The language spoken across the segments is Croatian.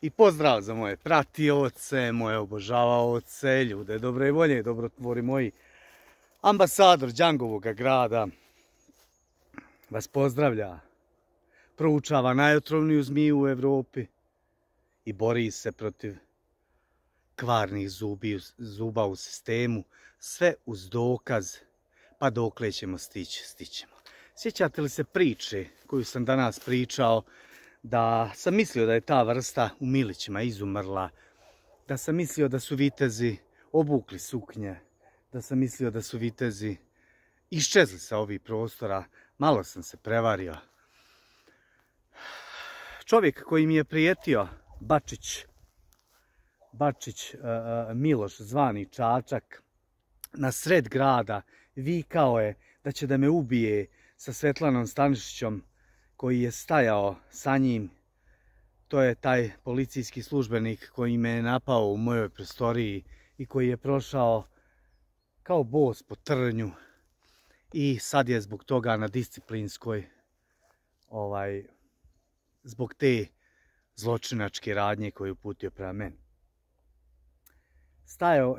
I pozdrav za moje pratioce, moje obožavaoce, ljude dobre volje, dobrotvori moji. Ambasador Đangovog grada vas pozdravlja, proučava najotrovniju zmiju u Evropi i bori se protiv kvarnih zuba u sistemu, sve uz dokaz, pa dokle ćemo stići, stićemo. Sjećate li se priče koju sam danas pričao, da sam mislio da je ta vrsta u Milićima izumrla, da sam mislio da su vitezi obukli suknje, da sam mislio da su vitezi iščezli sa ovih prostora. Malo sam se prevario. Čovjek koji mi je prijetio, Bačić Miloš, zvani Čačak, na sred grada vikao je da će da me ubije sa Svetlanom Stanišićom, koji je stajao sa njim. To je taj policijski službenik koji me je napao u mojoj prostoriji i koji je prošao kao bos po trnju i sad je zbog toga na disciplinskoj, zbog te zločinačke radnje koju je uputio prema meni.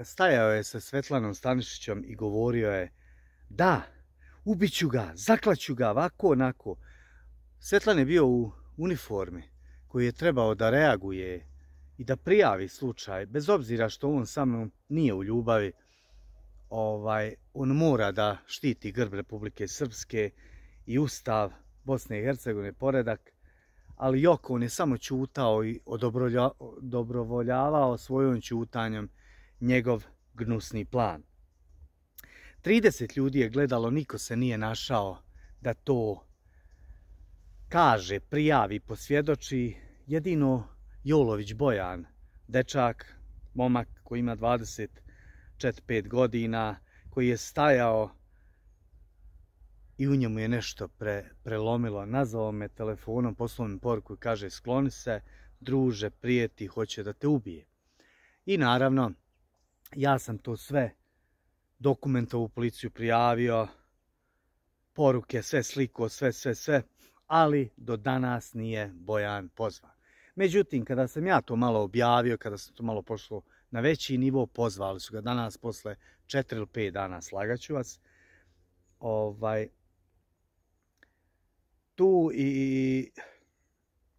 Stajao je sa Svetlanom Stanišićom i govorio je: da, ubiću ga, zaklaću ga, ovako, onako. Svetlan je bio u uniformi koji je trebao da reaguje i da prijavi slučaj, bez obzira što on sa mnom nije u ljubavi. On mora da štiti grb Republike Srpske i Ustav Bosne i Hercegovine, poredak, ali Joko, on je samo ćutao i odobrovoljavao svojom ćutanjem njegov gnusni plan. 30 ljudi je gledalo, niko se nije našao da to kaže, prijavi, posvjedoči. Jedino Jolović Bojan, dečak, momak koji ima 24-5 godina, koji je stajao i u njemu je nešto prelomilo. Nazvao me telefonom, poslao mi poruku i kaže: skloni se, druže, prijeti, hoće da te ubije. I naravno, ja sam to sve dokumentovao, u policiju prijavio, poruke, sve sliko, sve, ali do danas nije Bojan pozvan. Međutim, kada sam ja to malo objavio, kada sam to malo pošlo na veći nivo, pozvali su ga danas posle 4 ili 5 dana, slagaću vas. Tu i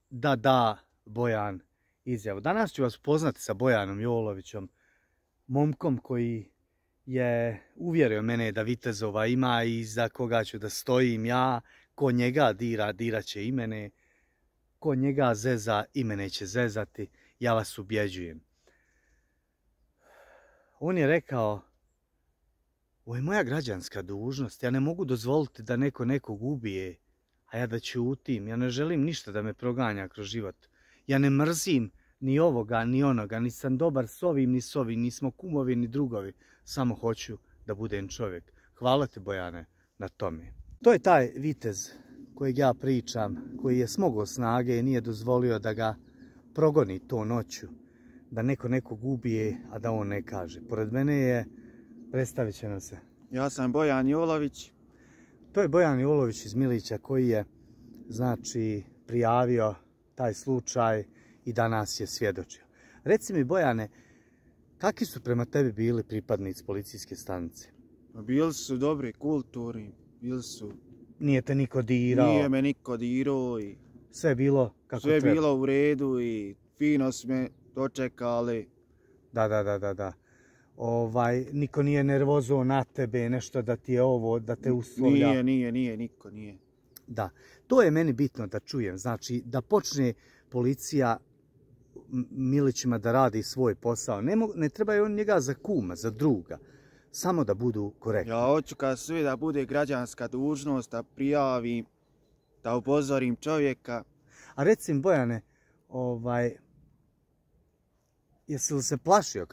da Bojan izjavu. Danas ću vas upoznati sa Bojanom Jolovićem, momkom koji je uvjerio mene da vitezova ima i za koga ću da stojim ja. Ko njega dira, dirat će i mene. Ko njega zeza, i mene će zezati. Ja vas ubjeđujem. On je rekao: ovo je moja građanska dužnost. Ja ne mogu dozvoliti da neko nekog ubije, a ja da ćutim. Ja ne želim ništa da me proganja kroz život. Ja ne mrzim ni ovoga, ni onoga. Nisam dobar s ovim, ni s ovim. Nismo kumovi, ni drugovi. Samo hoću da budem čovjek. Hvala te, Bojane, na tome. To je taj vitez kojeg ja pričam, koji je smogao snage i nije dozvolio da ga progoni to noću, da neko nekog ubije, a da on ne kaže. Pored mene je, predstavit će nam se. Ja sam Bojan Jolović. To je Bojan Jolović iz Milića koji je, znači, prijavio taj slučaj i danas je svjedočio. Reci mi, Bojane, kakvi su prema tebi bili pripadnici policijske stanice? Bili su dobri, kulturni, bili su... Nije te niko dirao? Nije me niko dirao i... Sve je bilo kako treba? Sve je bilo u redu i fino su me dočekali. Da. Niko nije nervozo na tebe, nešto da ti je ovo, da te uslovlja? Nije, niko nije. Da, to je meni bitno da čujem. Znači, da počne policija Milićima da radi svoj posao. Ne treba je on njega za kuma, za druga. Samo da budu korektni. Ja hoću kad sve da bude građanska dužnost, da prijavim, da upozorim čovjeka. A recim, Bojane, jesi li se plašio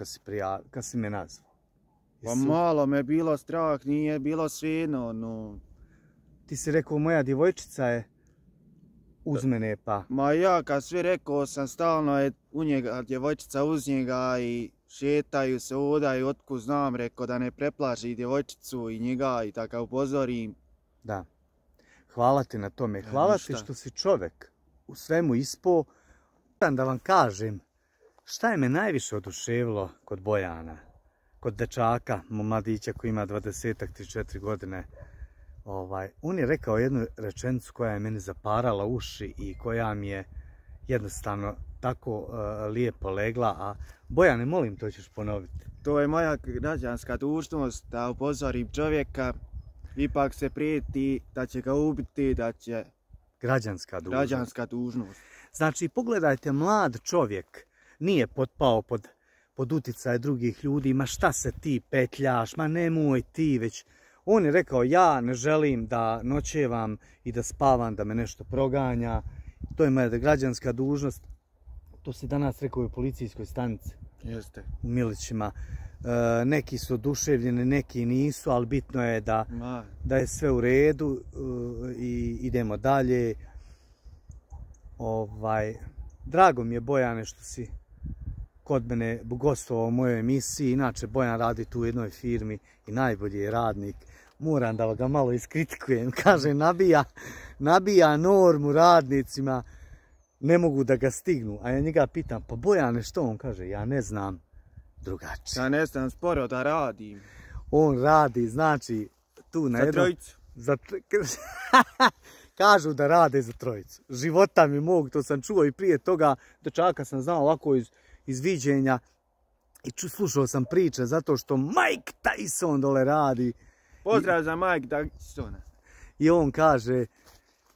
kad si me nazvao? Pa malo me bilo strah, nije bilo svejedno, no... Ti si rekao, moja djevojčica je uz mene, pa... Ma ja kad sve rekao sam, stalno je u njega, djevojčica uz njega i šetaju se ovdje i otkud znam, rekao da ne preplaši djevojčicu i njega i tako upozorim. Da. Hvala ti na tome. Hvala ti što si čovjek u svemu ispao Da vam kažem, šta je me najviše oduševilo kod Bojana, kod dečaka, mladića koji ima 20-34 godine. On je rekao jednu rečenicu koja je meni zaparala uši i koja mi je jednostavno tako lijepo legla, a Bojane, molim, to ćeš ponoviti. To je moja građanska dužnost da upozorim čovjeka, ipak se prijeti da će ga ubiti, da će... Građanska dužnost. Znači, pogledajte, mlad čovjek nije potpao pod utjecaj drugih ljudi, ma šta se ti petljaš, ma nemoj ti, već on je rekao, ja ne želim da noćevam i da spavam, da me nešto proganja, to je moja građanska dužnost. To si danas rekao u policijskoj stanici. Jeste. U Milićima. Neki su oduševljeni, neki nisu, ali bitno je da je sve u redu i idemo dalje. Drago mi je, Bojane, što si kod mene gostovao u mojoj emisiji. Inače, Bojan radi tu u jednoj firmi i najbolji je radnik. Moram da ga malo iskritikujem. Kaže, nabija normu radnicima, ne mogu da ga stignu. A ja njega pitam, pa Bojane, što? On kaže, ja ne znam drugačije. Ja ne znam sporo da radim. On radi, znači, tu na jednom... Za trojicu. Kažu da rade za trojicu. Života mi mog, to sam čuo i prije toga, dečaka sam znao ovako iz viđenja i slušao sam priče zato što Mike Tyson dole radi. Pozdrav za Mike Tysona. I on kaže,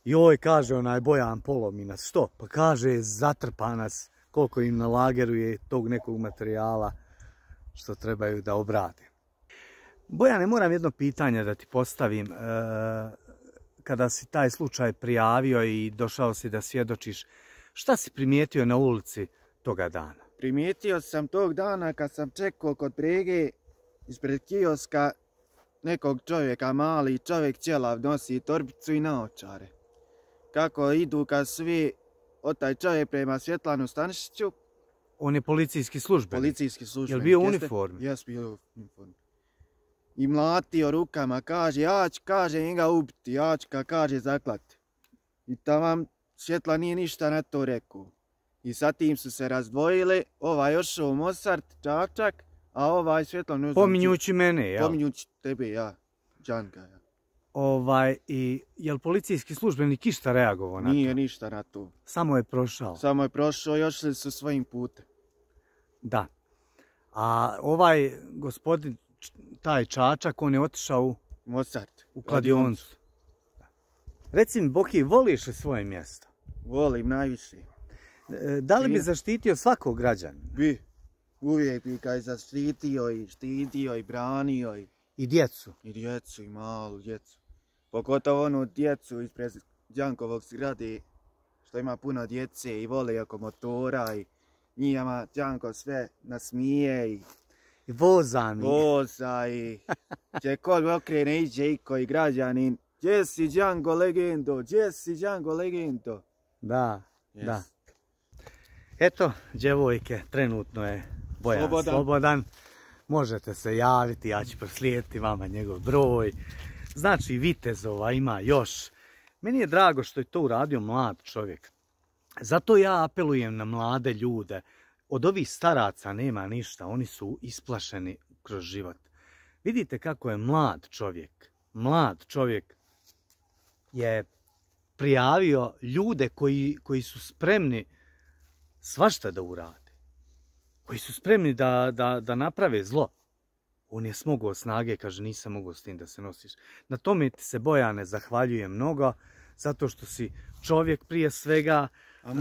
joj, kaže onaj Bojan, polomi nas. Što? Pa kaže, zatrpa nas koliko im na lageru je tog nekog materijala što trebaju da obrade. Bojane, moram jedno pitanje da ti postavim. Kada si taj slučaj prijavio i došao si da svjedočiš, šta si primijetio na ulici toga dana? Primijetio sam tog dana kad sam čekao kod brege ispred kioska nekog čovjeka, mali čovjek ćelav, nosi torbicu i naočare. Kako idu kad svi od taj čovjek prema Svjetlanu Stanišiću. On je policijski službenik. Policijski službenik. Je li bio u uniformi? Jes, bio u uniformi. I mlatio rukama, kaže, ja ću, kaže, njega ubiti, ja ću, kaže, zaklati. I tamo Svjetla nije ništa na to rekao. I sa tim su se razdvojili, ovaj ošao u Mosart, Čačak, a ovaj Svjetla... Pominjući mene, jel? Pominjući tebe, ja, Đanka, ja. I je li policijski službenik išta reagovao na to? Nije ništa na to. Samo je prošao? Samo je prošao i ošli su svojim putem. Da. A ovaj gospodin, taj Čačak, on je otišao u Mosart. U kladioncu. Reci mi, Boki, voliš li svoje mjesto? Volim najviše. Da li bi zaštitio svakog građanina? Bi. Uvijek bi ga zaštitio i štitio i branio. I djecu? I djecu, i malu djecu. Pogotovo onu djecu ispred Đankovog zgrade, što ima puno djece i vole oko motora i njima Đanko sve nasmije i voza mi. Voza i gdje kod okrene iđe iko i građanin. Gdje si Đanko legendo? Gdje si Đanko legendo? Da, da. Eto, djevojke, trenutno je Bojan slobodan. Možete se javiti, ja ću proslijediti vama njegov broj. Znači, vitezova ima još. Meni je drago što je to uradio mlad čovjek. Zato ja apelujem na mlade ljude. Od ovih staraca nema ništa, oni su isplašeni kroz život. Vidite kako je mlad čovjek je prijavio ljude koji su spremni svašta da urade. Koji su spremni da naprave zlo. On je smogao snage, kaže, nisam mogao s tim da se nosiš. Na tome ti se, Bojane, zahvaljujem mnogo, zato što si čovjek prije svega. A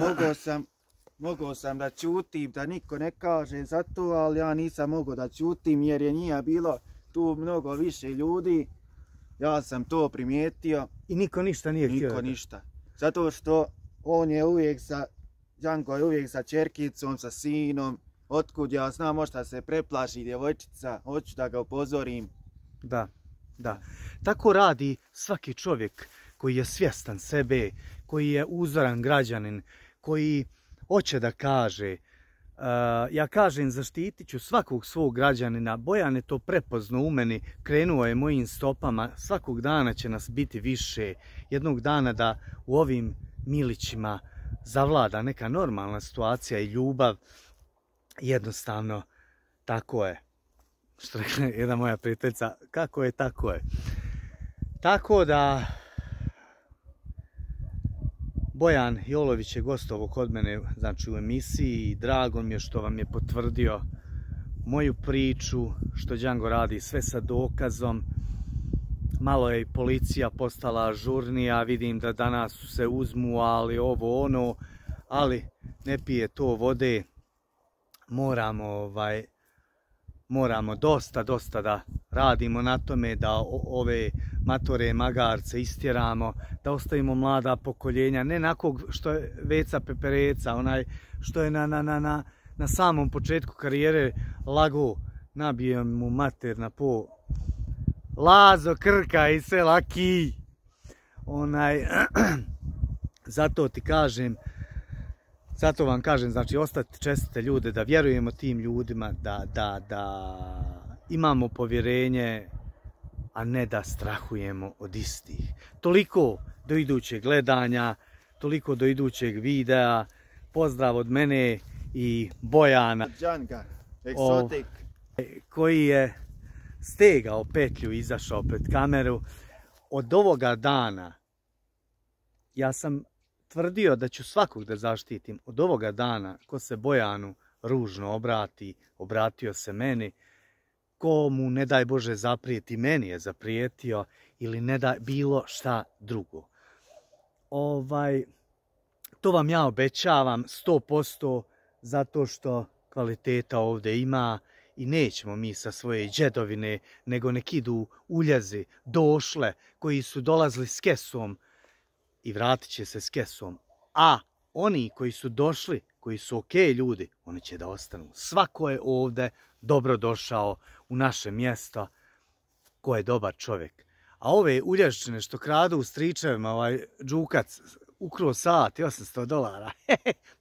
mogao sam da ćutim, da niko ne kaže za to, ali ja nisam mogao da ćutim jer je nije bilo tu mnogo više ljudi. Ja sam to primijetio. I niko ništa nije htio. Niko ništa. Zato što on je uvijek Đanko je uvijek sa ćerkicom, sa sinom. Otkud ja znam, možda se preplaši djevojčica, hoću da ga upozorim. Da, da. Tako radi svaki čovjek koji je svjestan sebe, koji je uzoran građanin, koji hoće da kaže. Ja kažem, zaštitit ću svakog svog građanina. Bojan je to prepoznao u meni, krenuo je mojim stopama. Svakog dana će nas biti više. Jednog dana da u ovim Milićima zavlada neka normalna situacija i ljubav, jednostavno tako je. Što rekla jedna moja prijateljica, kako je, tako je. Tako da, Bojan Jolović je gostovao kod mene, znači u emisiji, i drago mi je što vam je potvrdio moju priču, što Django radi sve sa dokazom. Malo je i policija postala ažurnija, vidim da danas se uzmu, ali ovo ono, ali ne pije to vode. Moramo dosta da radimo na tome, da ove matore magarce istjeramo, da ostavimo mlada pokoljenja, ne nakog što je Veca Pepereca, onaj što je na samom početku karijere lago, nabio mu mater na po Lazo Krka i sela Ki. Zato vam kažem, znači ostati čestite ljude, da vjerujemo tim ljudima, da imamo povjerenje, a ne da strahujemo od istih. Toliko do idućeg gledanja, toliko do idućeg videa. Pozdrav od mene i Bojana, Djanga, Exotic, koji je stegao petlju i izašao pred kameru. Od ovoga dana ja sam tvrdio da ću svakog da zaštitim. Od ovoga dana ko se Bojanu ružno obrati, obratio se meni, ko mu ne daj Bože zaprijeti, meni je zaprijetio, ili ne da bilo šta drugo. To vam ja obećavam 100%, zato što kvaliteta ovdje ima i nećemo mi sa svoje džedovine, nego nek idu uljezi, došle, koji su dolazili s kesom i vratit će se s kesom. A oni koji su došli, koji su ok ljudi, oni će da ostanu. Svako je ovdje dobro došao u naše mjesto, ko je dobar čovjek. A ove ulješčine što kradu u stričevima, ovaj džukac, ukro sat i $800.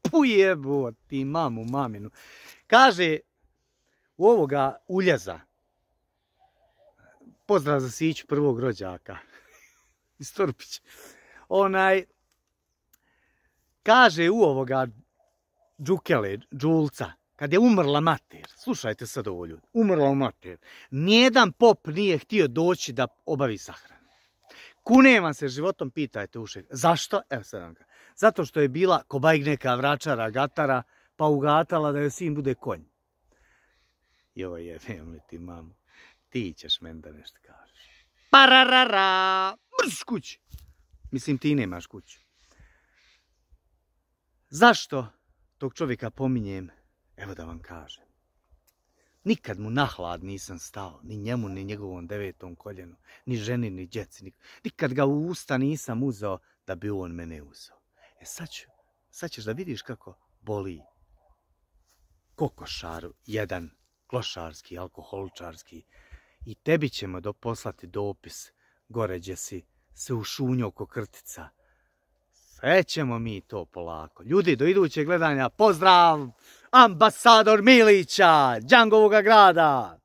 Pujebo ti mamu, maminu. Kaže u ovoga uljeza, pozdrav za Siću, prvog rođaka iz Turpića. Kaže u ovoga džukele, džulca, kad je umrla mater, slušajte sad ovo ljudi, umrla mater, nijedan pop nije htio doći da obavi sahranu. Kunem vam se životom, pitajte ušeg. Zašto? Evo sad vam kažem. Zato što je bila kobajk neka vračara, gatara, pa ugatala da joj sin bude konj. Joj, jebem li ti mamu, ti ćeš meni da nešto kažeš. Pararara, mrš kući. Mislim, ti nemaš kuću. Zašto tog čovjeka pominjem? Evo da vam kažem. Nikad mu na hlad nisam stao, ni njemu, ni njegovom 9. koljenu, ni ženi, ni djeci. Nikad ga u usta nisam uzeo da bi on mene uzeo. Sad ćeš da vidiš kako boli kokošaru jedan, klošarski, alkoholičarski. I tebi ćemo poslati dopis gore gdje si se ušunio oko krtica. Sve ćemo mi to polako. Ljudi, do idućeg gledanja, pozdrav! Ambasador Milića, Djangovoga grada!